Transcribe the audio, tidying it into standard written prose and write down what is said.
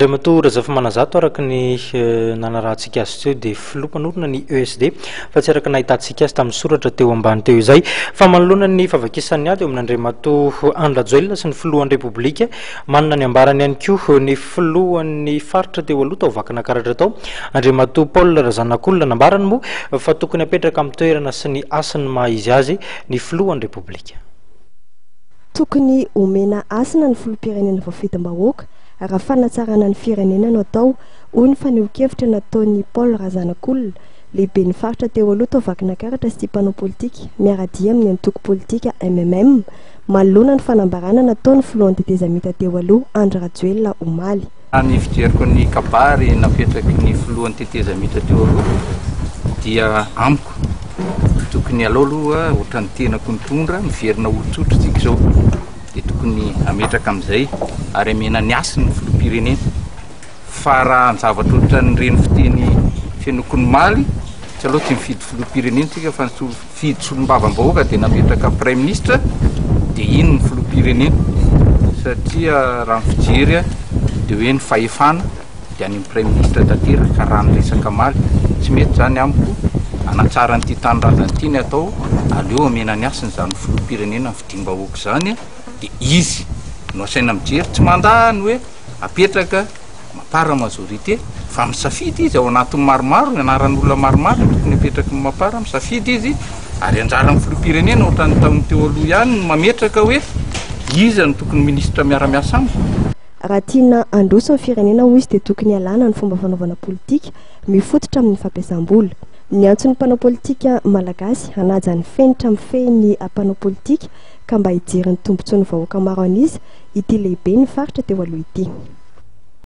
Andriamatoa Razafimanazato araka ny nanarahantsika azy teo dia filoha mpanorina ny ESD fa tsy araka nahitantsika azy tamin'ny soratra teo ambany teo izay. Fa manoloana ny fahavakisan'ny ady eo amin'Andriamatoa Andry Rajoelina sy ny filohan'ny Repoblika, manana ny ambarany ihany koa ny filohan'ny faritra teo aloha tao Vakinakaratra tao, Andriamatoa Paul Razanakolona. Nambarany moa fa tokony hapetraka amin'ny toerana sy ny hasin'ny maha izy azy ny filohan'ny Repoblika. Tokony homena hasina ny filoham-pirenena voafidim-bahoaka raha fanatsarana ny firenena no atao, hoy ny fanehoan-kevitra nataon'i Paul Razanakolona, lehiben'ny faritra teo aloha tao Vakinakaratra sy mpanao politika miara-dia amin'ny antoko politika mmm, manoloana ny fanambarana nataon'ny filohan'ny tetezamita teo aloha Andry Rajoelina omaly. Raha ny fijeriko ny kabary napetraky ny filohan'ny tetezamita teo aloha dia amiko tokony alao aloha ohatran'ny tenako nitondra miverina olon-tsotra tsika izao dia tokony ametraka amin'izay ary amena ny hasiny ny filoham-pirenena fa raha ny zavatra ohatran'ireny fiteny fenoko ny maly tsy aleo tsy mifidy filoham-pirenena tsika fa nifidy solombavambahoaka dia nametraka praiminisitra dia iny ny filoham-pirenena satria raha ny fijery dia hoe ny fahefana dia any amin'ny praiminisitra tanteraka raha ny resaka maly tsy mety izany amiko hanatsara an'ity tanindrazana ity ny atao aleo amena ny hasiny izany filoham-pirenena fidim-bahoaka izany dia izy no asaina mijery tsy mandà ny hoe apetraka Mapar majorité fa misafidy izy ao anatin'ny maromaro ny anaran'olona maromaro no tokony apetraky ny Mapar misafidy izy ary anjaran'ny filoham-pirenena ohatran'ny tamin'ny teo aloha ihany no mametraka hoe iza no tokony minisitra miara-miasa amiko. Raha tiana handroso ny firenena hoy izy dia tokony hialana ny fomba fanaovana politika mifototra amin'ny fampiasam-bola. Niantso ny mpanao politika malagasy hanaja ny fenitra mifehy ny mpanao politika ka mba hijery ny tombontsoan'ny vahoaka maro an'isa ity lehiben'ny faritra teo aloha ity.